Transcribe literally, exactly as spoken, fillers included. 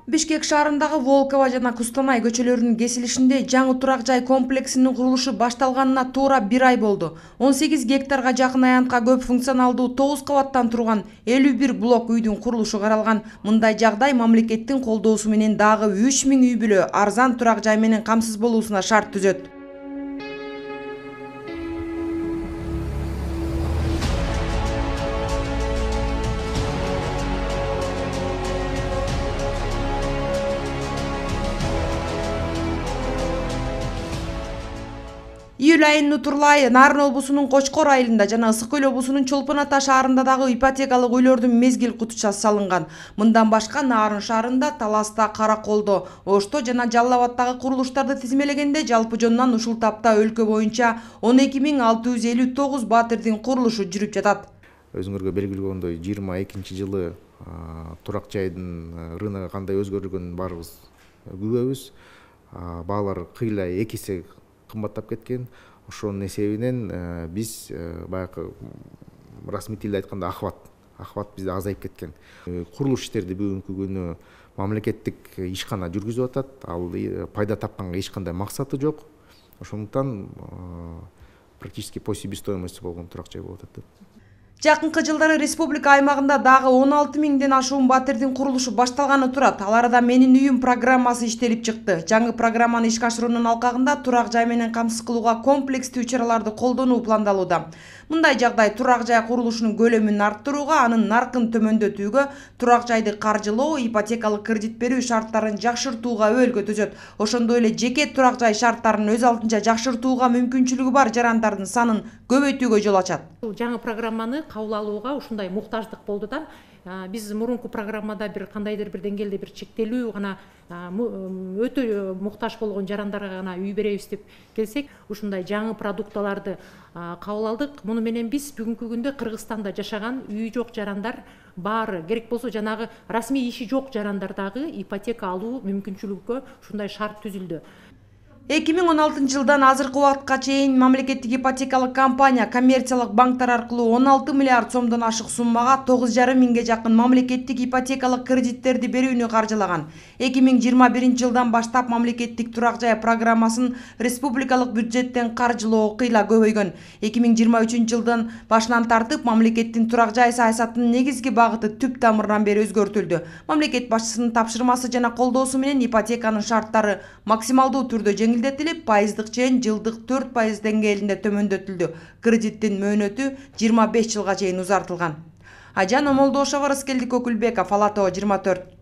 Бишкек шаарындагы Волково жана Кустанай көчөлөрүнүн кесилишинде жаңы турак жай комплексинин курулушу башталганына туура бир ай болду. он сегиз гектарга жакын аянтка көп функционалдуу тогуз кабаттан турган элүү бир блок үйдүн курулушу каралган. Мындай жагдай мамлекеттин колдоосу менен дагы үч миң үй бүлө арзан турак жай менен камсыз болуусуна шарт түзөт. Июль айынын Утурлай, Нарын облусунун Кочкор айылында жана Ысык көл облусунун Чолпон Ата шаарында дагы ипотекалык үйлөрдүн мезгил кутучасы салынган. Мындан башка Нарын шаарында, Таласта, Караколдо, Ошто жана Жалал Абадтагы курулуштарды тизмелегенде жалпы жонунан ушул тапта өлкө боюнча он эки миң алты жүз элүү тогуз батирдин курулушу жүрүп жатат. Өзүңөргө белгилегендей жыйырма экинчи жылы турак жайдын рыногу кандай өзгөргөнүн баарыбыз күбөбүз. Баалар кыйла эки эсе кымбаттап кеткен. Ошонун эсебинен биз баягы расмий тилде айтканда ахват ахват бизде азайып кеткен. Курулуш иштерди бүгүнкү күнү мамлекеттик ишкана жүргүзүп атат. Ал пайда тапканга эч кандай максаты жок. Ошондуктан практически по себестоимости болгон турак жай болуп атат. Жакынкы жылдары республика аймагында дагы он алты миңден ашуун батирдин курулушу башталганы турат. Ал арада Менин үйүм программасы иштелип чыкты. Жаңы программаны ишке ашыруунун алкагында турак жай менен камсыз кылууга комплекстүү чараларды колдонуу пландалууда. Мындай жагдай турак жай курулушунун көлөмүн арттырууга, анын наркын төмөндөтүүгө, турак жайды каржылоо, ипотекалык кредит берүү шарттарын жакшыртууга өбөлгө түзөт. Ошондой эле жеке турак жай шарттарын өз алдынча жакшыртууга мүмкүнчүлүгү бар жарандардын санын көбөйтүүгө жол ачат. Жаңы программаны кабыл алууга ушундай муктаждык болду да. Биз мурунку программада бир кандайдыр бир деңгээлде бир чектелүү гана өтө муктаж болгон жарандарга гана үй беребиз деп келсек, ушундай жаңы продукталарды кабыл алдык. Муну менен биз бүгүнкү күндө Кыргызстанда жашаган үйү жок жарандар баары, керек болсо жанагы расмий иши жок жарандар дагы ипотека алуу мүмкүнчүлүгүгө ушундай шарт түзүлдү. эки миң он алтынчы жылдан азыркы убакытка чейин мамлекеттик ипотекалык компания коммерциялык банктар аркылуу он алты миллиард сомдон ашык суммага тогуз жарым миңге жакын мамлекеттик ипотекалык кредиттерди берүүнү каржылаган. эки миң жыйырма биринчи жылдан баштап мамлекеттик турак жай программасын республикалык бюджеттен каржылоо кыйла көбөйгөн. эки миң жыйырма үчүнчү жылдын башынан тартып мамлекеттин турак жай саясатынын негизги багыты түп тамырынан бери өзгөртүлдү. Мамлекет башчысынын тапшырмасы жана колдоосу менен ипотеканын шарттары максималдуу түрдө жеңилдетилип, пайыздык чейин жылдык төрт пайыз деңгээлинде төмөндөтүлдү. Кредиттин мөөнөтү жыйырма беш жылга чейин узартылган. Ажан Омолдошова, Рыскелдик Өкүлбеков, Ала Тоо жыйырма төрт.